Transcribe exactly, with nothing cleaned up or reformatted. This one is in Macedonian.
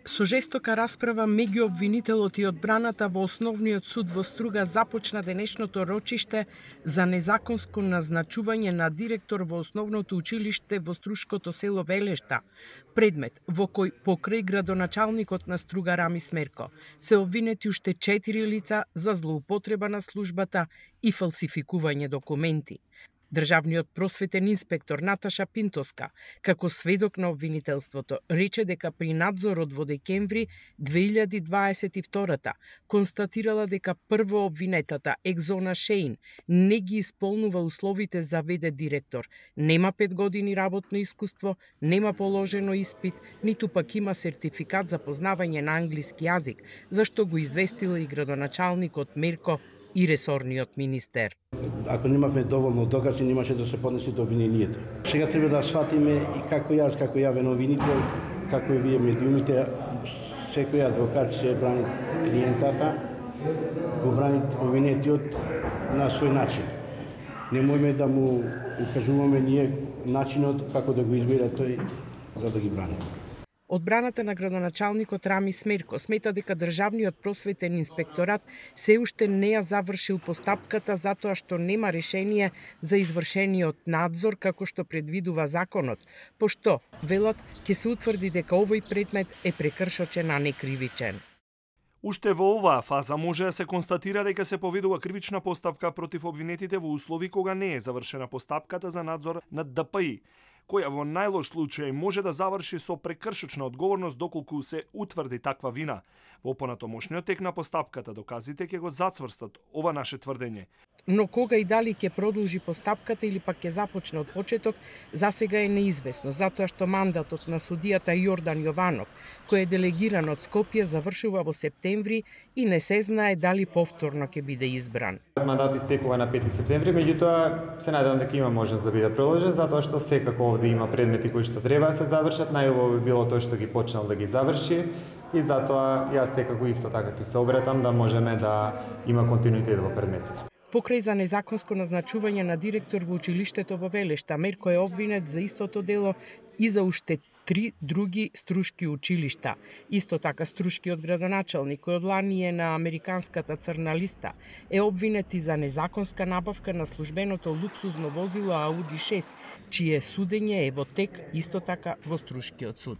Со жестока расправа меѓу обвинителот и одбраната во Основниот суд во Струга започна денешното рочиште за незаконско назначување на директор во Основното училиште во Струшкото село Велешта, предмет во кој покрај градоначалникот на Струга Рами Смерко се обвинети уште четири лица за злоупотреба на службата и фалсификување документи. Државниот просветен инспектор Наташа Пинтоска, како сведок на обвинителството, рече дека при надзорот во декември две илјади дваесет и втора констатирала дека прво обвинетата Екзона Шеин не ги исполнува условите за вд директор, нема пет години работно искуство, нема положено испит, ниту пак има сертификат за познавање на англиски јазик, зашто го известила и градоначалникот Мерко и ресорниот министер. Ако немавме доволно докази, немаше да се поднесе до обвинението. Сега треба да сватиме и како јас, како јавен обвинител, како и вие медиумите, секој адвокат се брани клиентата, го брани обвинетиот на свој начин. Немојме да му укажуваме ние начинот како да го избере тој за да ги брани. Одбраната на градоначалникот Рами Смерко смета дека Државниот просветен инспекторат се уште не ја завршил постапката затоа што нема решение за извршениот надзор како што предвидува законот, пошто, велат, ќе се утврди дека овој предмет е прекршочен, а не кривичен. Уште во оваа фаза може да се констатира дека се поведува кривична постапка против обвинетите во услови кога не е завршена постапката за надзор над Д П И, која во најлош случај може да заврши со прекршочна одговорност доколку се утврди таква вина. Во понатомошниот тек на постапката доказите ќе го зацврстат ова наше тврдење. Но кога и дали ќе продолжи постапката или пак ќе започне од почеток, засега е неизвестно, затоа што мандатот на судијата Јордан Јованов, кој е делегиран од Скопје, завршува во септември и не се знае дали повторно ќе биде избран. Мандат истекува на пети септември, меѓутоа се надевам дека има можност да биде продолжен, затоа што секако овде има предмети кои што треба да се завршат, најубаво би било тој што ги почнал да ги заврши и затоа јас секако исто така ќе се обратам да можеме да има континуитет во предметите. Покрај за незаконско назначување на директор во училиштето во Велешта, Мерко е обвинет за истото дело и за уште три други струшки училишта. Исто така струшкиот градоначалник, кој од лани е на американската црна листа, е обвинет и за незаконска набавка на службеното луксузно возило Ауди шест, чие судење е во тек исто така во Струшкиот суд.